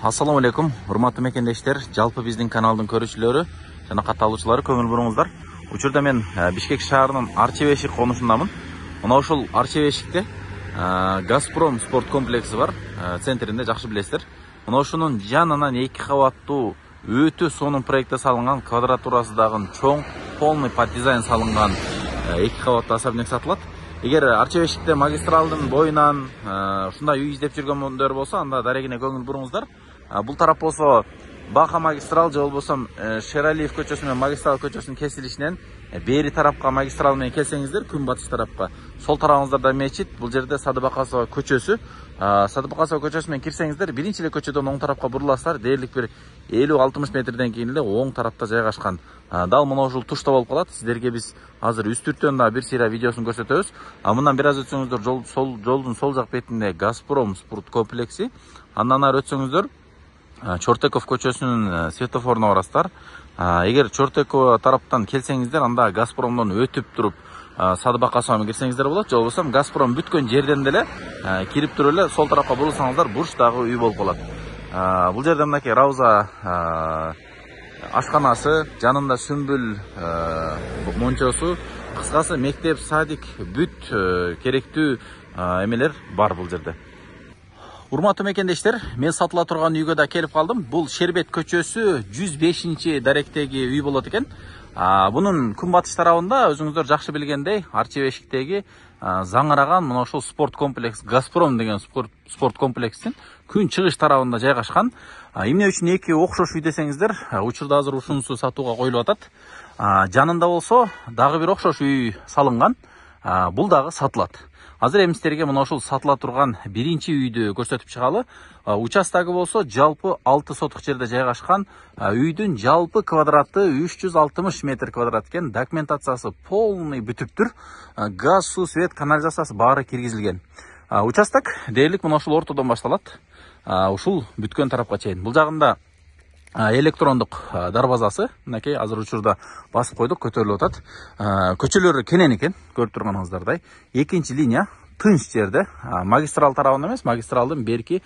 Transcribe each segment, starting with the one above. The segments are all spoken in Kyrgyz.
Assalamu alaikum, урматтуу мекендештер, жалпы биздин каналдын көрүүчүлөрү жана катталуучулары көңүл буруңуздар. Учурда мен Бишкек шаарынын Арчебешик конушундамын. Мына ушул Арчебешикте Газпром спорт комплекси бар, центринде жакшы билесиздер. Мына ушунун жанынан 2 кабаттуу өтө сонун проектте салынган, квадратурасы дагы чоң, полный под дизайн салынган 2 кабаттуу особняк сатылат. Эгер Арчебешикте магистралдын боюнан ушундай үй издеп жүргөндөр болсо, анда дарегине көңүл буруңуздар. Бул тарап болсо Баха магистрал же болбосо Шералиев көчөсү менен магистрал көчөсүнүн кесилишинен бери тарапка магистрал менен келсеңиздер, күн батыш тарапка, сол тарабыңыздарда мечит, бул жерде Садыбакасова көчөсү. Садыбакасова көчөсү менен кирсеңиздер, биринчи эле көчөдөн оң тарапка буруласыздар, дээрлик бир 50-60 метрден кийин эле оң тарапта жайгашкан. Дал мына ушул тушта болуп калат. Сиздерге биз азыр үстүртөн да бир сыйра видеосун көрсөтөбүз. Мындан бир аз өтсөңүздөр, жолдун сол жак бетинде Газпром спорт комплекси. Андан ары өтсөңүздөр, Чортеков көчөсүнүн светофоруна барасыздар. Эгер Чортеков тараптан келсеңиздер, анда Газпромдон өтүп туруп Садыбакасова менен кирсеңиздер болот. Же болбосо Газпром бүткөн жерден деле кирип туруп эле сол тарапка бурулсаңыздар, бурчтагы үй болуп калат. Бул жерде мынакей Рауза ашканасы, жанында Сүмбүл мончосу, кыскасы мектеп, садик, бүт керектүү эмелер бар бул жерде. Урматтуу мекендештер, мен сатыла турган үйгө да келип калдым. Бул Шербет көчөсү 105 даректеги үй болот экен. Бунун күнбатыш тарабында өзүңүздөр жакшы билгендей, Арчебешиктеги заңыраган мына ушул спорт комплекс, Газпром деген спорт комплексин күн чыгыш тарабында жайгашкан. Эмне үчүн 2 окшош үй десеңиздер, учурда азыр ушунусу сатууга коюлуп атат. Жанында болсо дагы бир окшош үй салынган. Бул дагы сатылат. Азыр эми сиздерге мына ушул сатыла турган биринчи үйдү көрсөтүп чыгалы. Участогу болсо жалпы 6 соток жерде жайгашкан. Үйдүн жалпы квадраты 360 метр квадрат экен. Документациясы полный бүтүптүр. Газ, суу, свет, канализациясы баары киргизилген. Участок дээрлик мына ушул ортодон башталат. Ушул бүткөн тарапка чейин. Бул жагында электрондук дарбазасы, мынакей азыр учурда басып койдук, көтөрүлүп атат. Көчөлөрү кенен экен, көрүп турганыңыздардай. Экинчи линия тынч жерде, магистрал тарабында эмес, магистралдын берки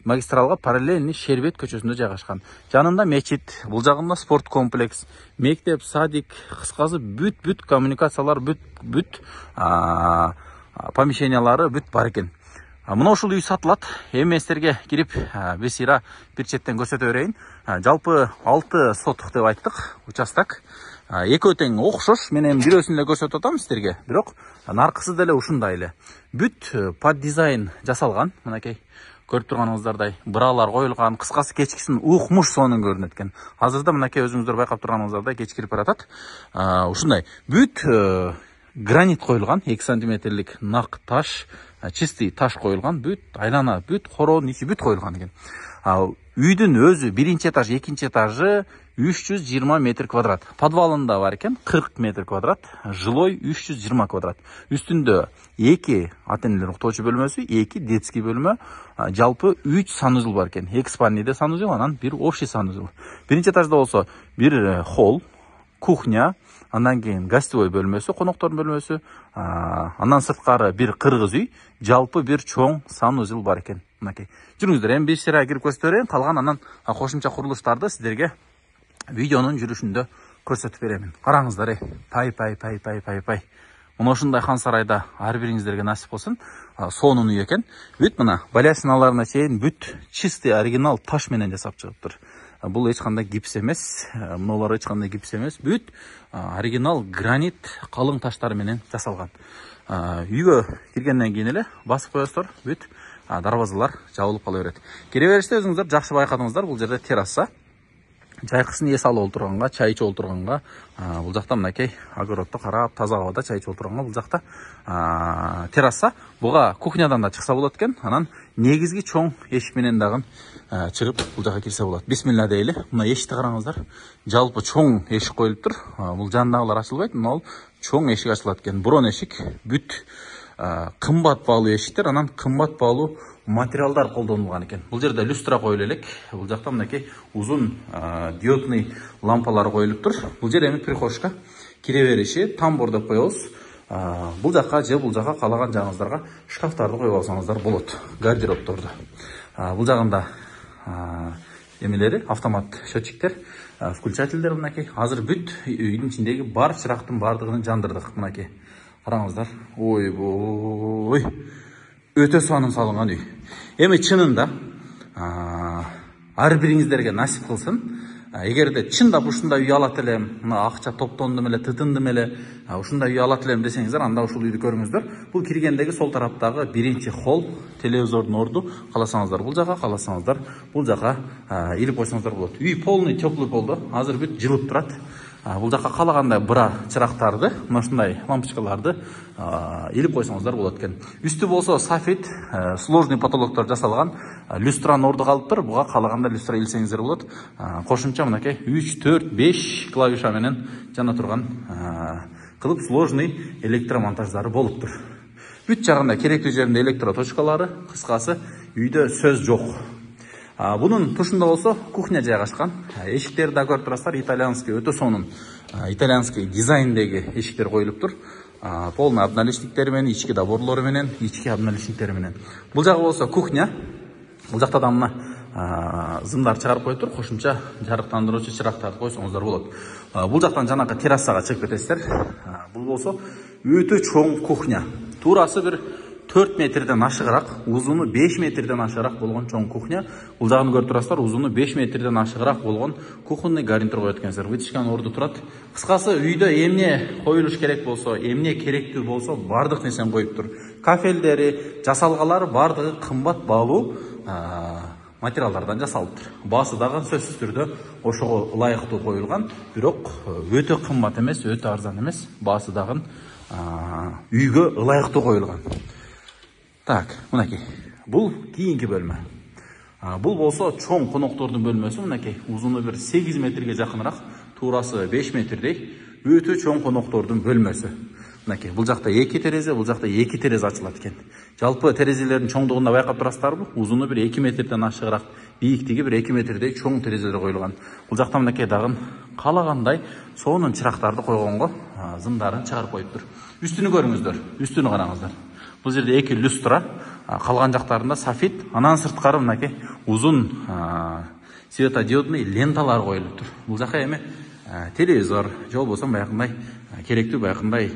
магистралга параллельный Шербет көчөсүндө жайгашкан. Жанында мечит, бул жагында спорт комплекс, мектеп, садик, кыскасы бүт коммуникациялар, бүт помещениялары бүт бар экен. Мына ушул үй сатылат. Эми сиздерге кирип бир сыйра бир четтен көрсөтө берейин. Жалпы 6 соток деп айттык участок. Экөө тең окшош. Мен эми бирөөсүн эле көрсөтүп атам сиздерге. Бирок наркысы деле ушундай эле. Бүт под дизайн жасалган. Мынакей көрүп турганыңыздардай быралар коюлган. Кыскасы кечкисин укмуш сонун көрүнөт экен. Азырда мынакей өзүңүздөр байкап турганыңыздардай кеч кирип баратат. Ушундай бүт гранит коюлган, 2 сантиметрлик нак таш, чистый таш коюлган, бүт айлана, бүт короонун ичи бүт коюлган экен. Үйдүн өзү биринчи этаж, экинчи этажы 320 метр квадрат. Подвалында бар экен 40 метр квадрат, жилой 320 квадрат. Үстүндө 2 ата-энелер уктоочу бөлмөсү, 2 детский бөлмө, жалпы 3 санузел бар экен. 2 спальныйда санузел, анан бир общий санузел. Биринчи этажда болсо бир холл, кухня, андан кийин гостевой бөлмөсү, коноктордун бөлмөсү, андан сырткары бир кыргыз үй, жалпы бир чоң санузел бар экен. Мынакей. Жүрүңүздөр, эми бир сыйра кирип көрсөтө берейин, калган анан кошумча курулуштарды сиздерге видеонун жүрүшүндө көрсөтүп беремин. Караңыздар, пай. Мына ушундай хан сарайда ар бириңиздерге насип болсун. Сонун үй экен. Бүт мына балясиналарына чейин бүт чистый оригинал таш менен жасап чыгыптыр. Бул эч кандай гипс эмес, мыналар эч кандай гипс эмес, бүт оригинал гранит калың таштар менен жасалган. Үйгө киргенден кийин эле басып коесуздар, бүт дарбазалар жабылып кала берет. Кире бериште өзүңүздөр жакшы байкадыңыздар, бул жерде терраса. Жайкысын эс алып олтурганга, чай ичип олтурганга, бул жакта мынакей огородду карап, таза абада чай ичип олтурганга бул жакта терраса. Буга кухнядан да чыкса болот экен. Анан негизги чоң эшик менен дагы чыгып бул жака кирсе болот. Бисмилла дейли. Мына эшикти караңыздар. Жалпы чоң эшик коюлуптур. Бул жандагылар ачылбайт. Мына бул чоң эшик ачылат экен. Бурон эшик, бүт кымбат баалуу эшиктер, анан кымбат баалуу материалдар колдонулган экен. Бул жерде люстра коюлуп элек. Бул жакта мынакей узун диодный лампалар коюлуптур. Бул жер эми прихожка. Кире бериши тамбур деп коебуз. Бул жака же бул жака каалаган жагыңыздарга шкафтарды коюп алсаңыздар болот, гардеробторду. Бул жагында эмелери, автомат счетчиктер, включательдер мынакей. Азыр бүт үйдүн ичиндеги бар чырактын бардыгын жандырдык мынакей. Караңыздар. Ойбой. Өтө сонун салынган үй. Эми чынында ар бириңиздерге насип кылсын. Эгерде чындап ушундай үй алат элем, мына акча топтондум эле, тытындым эле, ушундай үй алат элем десеңиздер, анда ушул үйдү көрүңүздөр. Бул киргендеги сол тараптагы биринчи холл, телевизордун орду. Каласаңыздар бул жака, каласаңыздар бул жака илип койсоңуздар болот. Үй полный теплый болду. Азыр бүт жылып турат. Бул жака калагандай бра чырактарды, мына ушундай лампочкаларды илип койсоңуздар болот экен. Үстү болсо софит, сложный потолоктор жасалган, люстранын орду калыптыр. Буга калаганда люстра илсеңиздер болот. Кошумча мынакей 3, 4, 5 клавиша менен жана турган кылып сложный электромонтаждары болуптур. Бүт жагында керектүү жеринде электроточкалары, кыскасы үйдө сөз жок. Бунун тушунда болсо кухня жайгашкан. Эшиктерди да көрүп турасыздар, итальянский, өтө сонун итальянский дизайндеги эшиктер коюлуптур. Полный обналичниктери менен, ички доборлору менен, ички обналичниктери менен. Бул жагы болсо кухня. Бул жакта да мына зымдар чыгарып коюптур, кошумча жарыктандыруучу чырактарды койсоңуздар болот. Бул жактан жанакы террасага чыгып кетесиздер. Бул болсо өтө чоң кухня. Туурасы бир 4 метрден ашыгыраак, узуну 5 метрден ашыгыраак болгон чоң кухня. Бул жагын көрүп турасыздар, узуну 5 метрден ашыгыраак болгон кухонный гарнитур коет экенсиздер. Вытяжканын орду турат. Кыскасы үйдө эмне коюлуш керек болсо, эмне керектүү болсо, бардык нерсени коюптур. Кафелдери, жасалгалары бардыгы кымбат баалуу материалдардан жасалыптыр. Баасы дагы сөзсүз түрдө ошого ылайыктуу коюлган, бирок өтө кымбат эмес, өтө арзан эмес, баасы дагы үйгө ылайыктуу коюлган. Так, мынакей. Бул кийинки бөлмө. Бул болсо чоң коноктордун бөлмөсү, мынакей. Узуну бир 8 метрге жакыныраак, туурасы 5 метрдей, өтө чоң коноктордун бөлмөсү. Мынакей, бул жакта 2 терезе, бул жакта 2 терезе ачылат экен. Жалпы терезелердин чоңдугунда байкап турасыздарбы? Узуну бир 2 метрден ашыгыраак, бийиктиги бир 2 метрдей чоң терезелер коюлган. Бул жакта мынакей дагы калагандай сонун чырактарды койгонго зымдарын чыгарып коюптур. Үстүнү көрүңүздөр, үстүнү караңыздар. Бул жерде 2 люстра, калган жактарында софит, анан сырткары мынакей узун светодиодный ленталар коюлуптур. Бул жака эми телевизор, же болбосо баягындай керектүү баягындай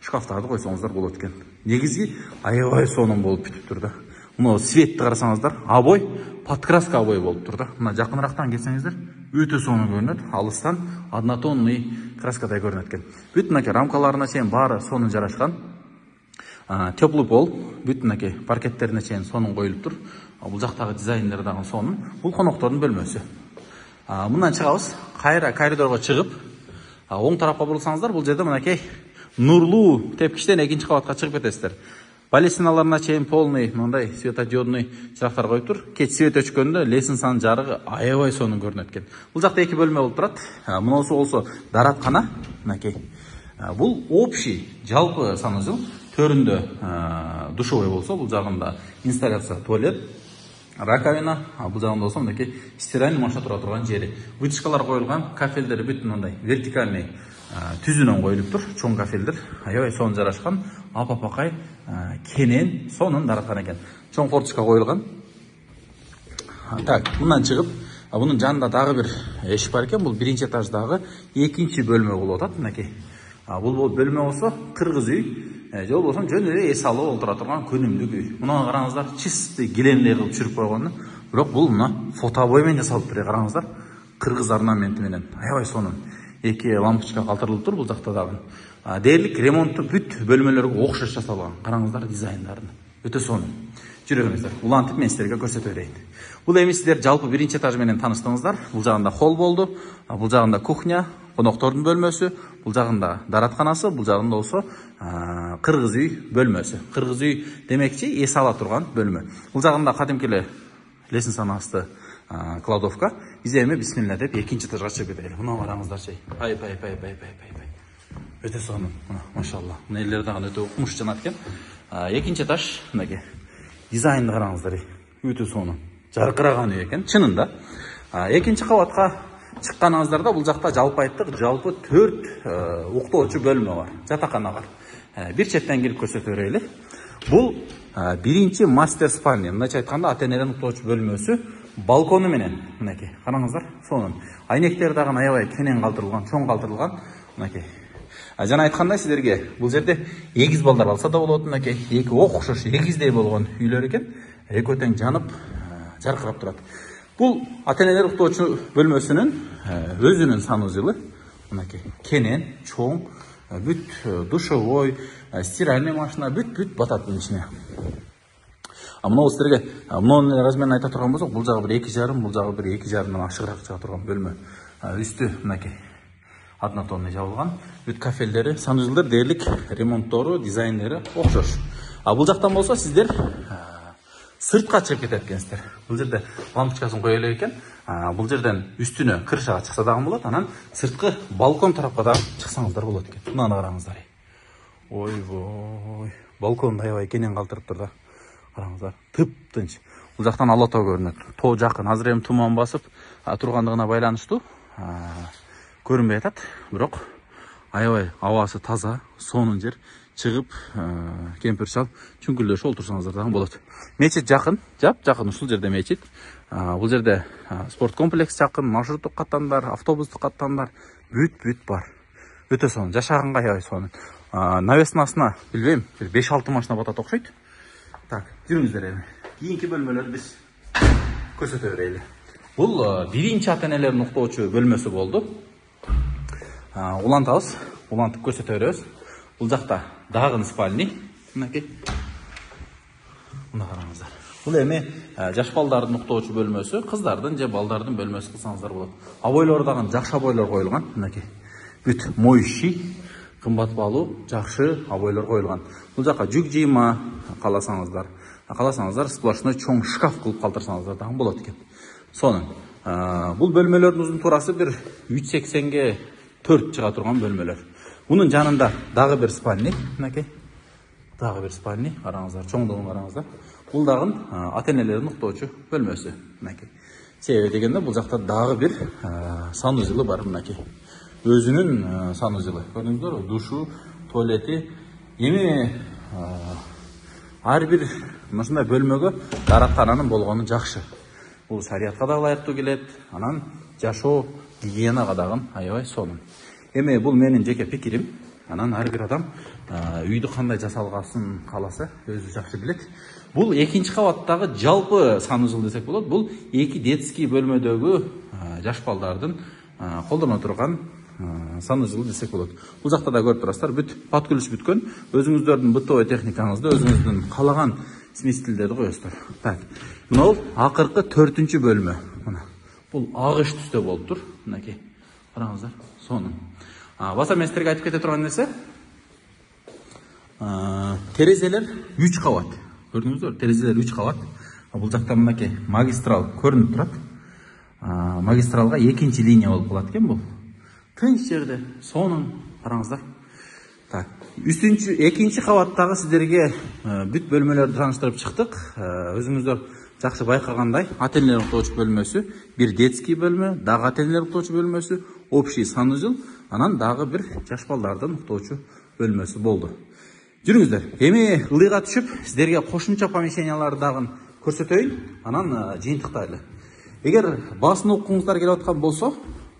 шкафтарды койсоңуздар болот экен. Негизи аябай сонун болуп бүтүптүр да. Мына светти карасаңыздар, обой, подкраска обой болуптур да. Мына жакынырактан келсеңиздер, өтө сонун көрүнөт. Алыстан однотонный краскадай көрүнөт экен. Бүт мынакей рамкаларына чейин баары сонун жарашкан. Теплый пол, бүт мынакей паркеттерине чейин сонун коюлуптур. Бул жактагы дизайндер дагы сонун. Бул коноктордун бөлмөсү. Мындан чыгабыз, кайра коридорго чыгып, оң тарапка бурулсаңыздар, бул жерде мынакей нурлуу тепкичтен экинчи кабатка чыгып кетесиздер. Балесиналарына чейин полный мындай светодиодный чырактар коюптур. Кеч свет өчкөндө лестницанын жарыгы аябай сонун көрүнөт экен. Бул жакта 2 бөлмө болуп турат. Мунусу болсо дараткана, мынакей. Бул общий, жалпы саныжыл. Төрүндө душевой болсо, бул жагында инсталляция туалет, раковина, бул жагында болсо мынакей стиральный машина тура турган жери. Вытяжкалар коюлган, кафелдери бүт мындай вертикальный түзүнөн коюлуптур, чоң кафелдер, аябай сонун жарашкан, апапакай кенен сонун дараткан экен. Чоң форточка коюлган. Так, мындан чыгып, бунун жанында дагы бир эшик бар экен. Бул биринчи этаждагы экинчи бөлмө болуп атат, мынакей. Бул бөлмө болсо кыргыз үй, же болбосо жөн эле эс алып олтура турган күнүмдүк үй. Муну караңыздар, чисти гелендей кылып түшүрүп койгон. Бирок бул мына фотобой менен жасалыптыр, караңыздар. Кыргыз орнаменти менен аябай сонун. 2 лампочка калтырылыптыр бул жакта дагы. Дээрлик ремонтту бүт бөлмөлөргө окшош жасалган. Караңыздар дизайндарын. Өтө сонун. Жүрүңүздөр. Улантып мен силерге көрсөтө берейин. Бул эми сиздер жалпы биринчи этаж менен таныштыңыздар. Бул жагында холл болду, бул жагында кухня, коноктордун бөлмөсү, бул жагында даратканасы, бул жагында болсо кыргыз үй бөлмөсү. Кыргыз үй демекчи эс ала турган бөлмө. Бул жагында кадимки эле лестницанын асты кладовка. Биз эми бисмилла деп экинчи этажга чыгып кетели. Мына караңыздарчы. Пай. Өтө сонун. Машалла. Мына элдер дагы өтө укмуш жанат экен. Экинчи этаж мынакей. Дизайнды караңыздар. Өтө сонун. Жаркыраган үй экен. Чынында. Экинчи кабатка чыкканыңыздарда бул жакта жалпы айттык, жалпы 4 уктоочу бөлмө бар. Жатакана бар. Бир четтен кирип көрсөтө берели. Бул биринчи мастер спальня. Мындайча айтканда ата-энеден уктоочу бөлмөсү. балкону менен мынакей караңыздар. Сонун айнектер дагы аябай кенен калтырылган, чоң калтырылган мынакей. Жана айткандай силерге бул жерде эгиз балдар алса да болот. Мынакей эки окшош эгиздей болгон үйлөр экен. Экөө тең жанып жаркырап турат. Бул ата-энелер уктоочу бөлмөсүнүн өзүнүн санузелы. Мынакей кенен, чоң, бүт душевой, стиральный машина, бүт батат bunun ичине. Мына силерге мынунун размерин айта турган болсок, бул жагы бир 2,5, бул жагы бир 2,5 ашыгыраак чыга турган бөлмө. Үстү мынакей однотонный жабылган. Бүт кафелдери, санузелдер дээрлик ремонттору, дизайнери окшош. Бул жактан болсо сиздер сыртка чыгып кетет экенсиздер. Бул жерде лампочкасын кое элек экен. Бул жерден үстүнө крышага чыкса дагы болот. Анан сырткы балкон тарапка дагы чыксаңыздар болот экен. Мынаны караңыздар. Ойбой. Балкон аябай кенен калтырып тур да. Караңыздар. Тып-тынч. Бул жактан ала тоо көрүнөт. Тоо жакын. Азыр эми туман басып тургандыгына байланыштуу көрүнбөй атат. Бирок аябай абасы таза, сонун жер. Чыгып кемпир шал чүңкүлдөшүп олтурсаңыздар дагы болот. Мечит жакын, жакын ушул жерде мечит. Бул жерде спорт комплекс жакын, маршруттук каттамдар, автобустук каттамдар бүт бар. Өтө сонун, жашаганга аябай сонун. Навестин астына билбейм, 5-6 машина батат окшойт. Так, жүрүңүздөр эми. Кийинки бөлмөлөрдү биз көрсөтө берели. Бул биринчи ата-энелердин уктоочу бөлмөсү болду. Улантабыз, улантып көрсөтө беребиз. Бул жакта дагы спальный. Мынакей. Мына караңыздар. Бул эми жаш балдардын уктоочу бөлмөсү, кыздардын же балдардын бөлмөсү кылсаңыздар болот. Абойлор дагы жакшы абойлор коюлган. Мынакей. Бүт моющий, кымбат баалуу, жакшы абойлор коюлган. Бул жака жүк жыйма каласаңыздар, сплошной чоң шкаф кылып калтырсаңыздар дагы болот экен. Сонун. Бул бөлмөлөрдүн узун турасы бир 380ге 4 чыга турган бөлмөлөр. Bunun жанында дагы бир спальный, мынакей. Дагы бир спальный, караңыздар, чоңдугун караңыздар. Бул дагы ата-энелердин уктоочу бөлмөсү, мынакей. Себеби дегенде бул жакта дагы бир санузелы бар, мынакей. Өзүнүн санузелы. Көрдүңүздөрбү? Душу, туалети. Эми ар бир мындай бөлмөгө дараткананын болгону жакшы. Бул шариатка да ылайыктуу келет. Анан жашоо гигиенага дагы аябай сонун. Эми бул менин жеке пикирим. Анан ар бир адам үйдү кандай жасалгасын кааласа, өзү жакшы билет. Бул экинчи кабаттагы жалпы санузел десек болот. Бул эки детский бөлмөдөгү жаш балдардын колдоно турган санузел десек болот. Бул жакта да көрүп турасыздар, бүт подключ бүткөн. Өзүңүздөрдүн бытовой техникаңызды, өзүңүздүн каалаган смесителдерди коесуздар. Так. Мына бул акыркы 4-чү бөлмө. Мына. Бул агыш түстө болуп тур. Мынакей. Караңыздар, сонун. Баса мен силерге айтып кете турган нерсе, терезелер 3 кабат. Көрдүңүздөрбү? Терезелер 3 кабат. Бул жакта мынакей магистрал көрүнүп турат. Магистралга 2-чи линия болуп калат экен бул. Тынч жерде, сонун, караңыздар. Так, 2-чи кабаттагы сиздерге бүт бөлмөлөрдү тааныштырып чыктык. Өзүңүздөр жакшы байкагандай, ата-энелер уктоочу бөлмөсү, бир детский бөлмө, дагы ата-энелер уктоочу бөлмөсү, общий санузел, анан дагы бир жаш балдардын уктоочу бөлмөсү болду. Жүрүңүздөр. Эми ылыйга түшүп, сиздерге кошумча помещенияларды дагы көрсөтөйүн, анан жыйынтыктайлы. Эгер баасын уккуңуздар келип аткан болсо,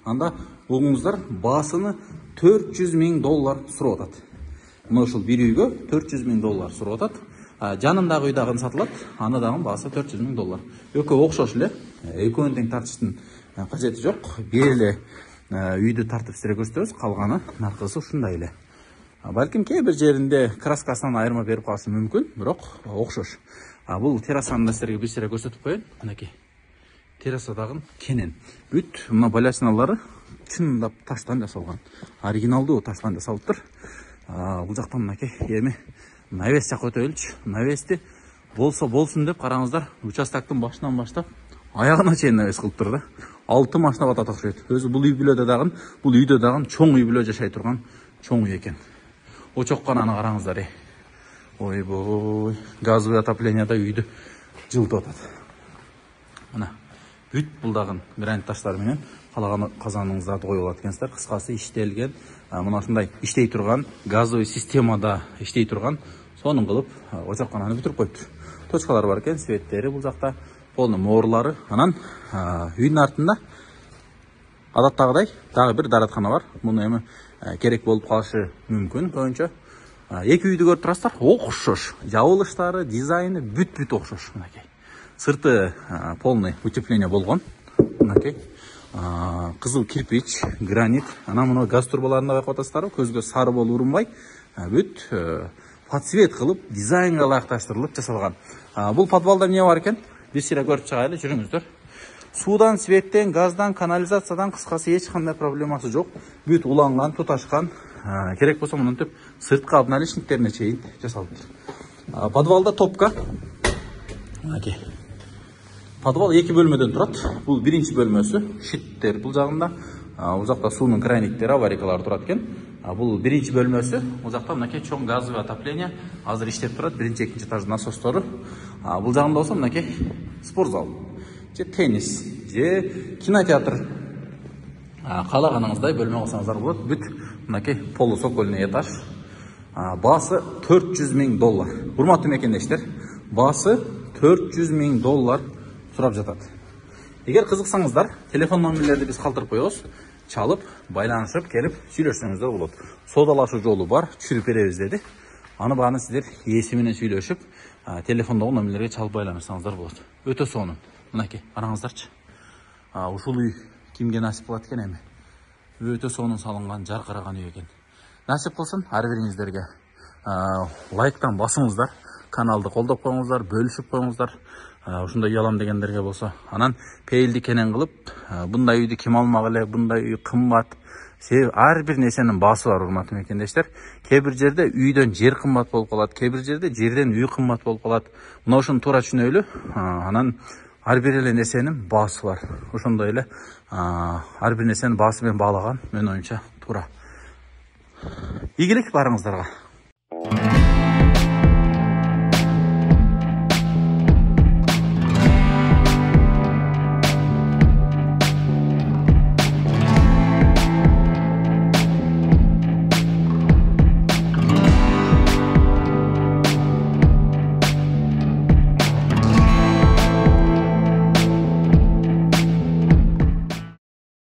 анда угуңуздар баасыны $400,000 сурап атат. Мына ушул бир үйгө $400,000 сурап атат. Жанындагы үй дагы сатылат, аны дагы баасы $400,000. Экөө окшош эле, экөөнү тең тартыштын кажети жок. Бир эле үйдү тартып силерге көрсөтөбүз, калганы наркысы ушундай эле. Балким кээ бир жеринде краскасынан айырма берип калышы мүмкүн, бирок окшош. Бул террасаны да силерге бир сире көрсөтүп коеюн. Мынакей. Терраса дагы кенен. Бүт мына балясиналары чындап таштан жасалган. Оригиналдуу таштан жасалыптыр. Бул жактан мынакей эми навес жакка өтөлүчү. Навести болсо болсун деп караңыздар, участоктун башынан баштап аягына чейин навес кылыптыр да. 6 машина батат окшойт. Өзү бул үй бүлөдө дагы, бул үйдө дагы чоң үй бүлө жашай турган чоң үй экен. Очоккананы караңыздар. Ойбой, газовый отопленияда үйдү жылытып атат. Мына бүт бул дагы гранит таштар менен калаган казаныңызды коюп алат экенсиздер. Кыскасы иштелген, мына ушундай иштей турган, газовый системада иштей турган, сонун кылып очоккананы бүтүрүп коюптур. Точкалар бар экен, светтери бул жакта полный mooрлары. Анан үйдүн артында адаттагыдай дагы бир дараткана бар. Муну эми керек болуп калышы мүмкүн көбүнчө. Эки үйдү көрүп турасыздар, окшош. Жабылыштары, дизайны бүт окшош. Мынакей. Сырты полный утепление болгон. Мынакей. Кызыл кирпич, гранит. Анан мына газ турбаларында байкап атасыздарбы? Көзгө сары болуп урунбай, бүт подсвет кылып, дизайнга ылайыкташтырылып жасалган. Бул подвалда эмне бар экен? Бир сыйра көрүп чыгайлы, жүрүңүздөр. Судан, светтен, газдан, канализациядан кыскасы эч кандай проблемасы жок. Бүт уланган, туташкан. Керек болсо мынтип сырткы обналичниктерине чейин жасалыптыр. Подвалда топка. Мынакей. Подвал 2 бөлмөдөн турат. Бул биринчи бөлмөсү. Шиттер бул жагында. Бул жакта суунун крайниктери, аварийкалары турат экен. Бул биринчи бөлмөсү. Бул жакта мынакей чоң газовый отопление азыр иштеп турат. Биринчи, экинчи этаждын насостору. Бул жагында болсо мынакей спортзал, же теннис, же кинотеатр. Каалаганыңыздай бөлмө кылсаңыздар болот. Бүт мынакей полусокольный этаж. Баасы $400,000. Урматтуу мекендештер, баасы $400,000 сурап жатат. Эгер кызыксаңыздар, телефон номерлерди биз калтырып коебуз. Чалып, байланышып, келип сүйлөшсөңүздөр болот. Соодалашуу жолу бар, түшүрүп беребиз деди. Аны бааны сиздер ээси менен сүйлөшүп, телефондогу номерлерге чалып байланышсаңыздар болот. Өтө сонун. Мынакей, караңыздарчы. Ушул үй кимге насип кылат экен эми? Өтө сонун салынган, жаркыраган үй экен. Насип кылсын ар бириңиздерге. Лайктан басыңыздар, каналды колдоп коюңуздар, бөлүшүп коюңуздар. Ушундай үй алам дегендерге болсо, анан пейилди кенен кылып, bunday үйдү ким алмак эле, bunday үй кымбат. Ар бир нерсенин баасы бар, урматтуу мекендештер. Кээ бир жерде үйдөн жер кымбат болуп калат, кээ бир жерде жерден үй кымбат болуп калат. Мына ушуну туура түшүнөлү. Анан ар бир эле нерсенин баасы бар. Ошондой эле ар бир нерсенин баасы менен баалаган менин оюмча туура. Ийгилик барыңыздарга.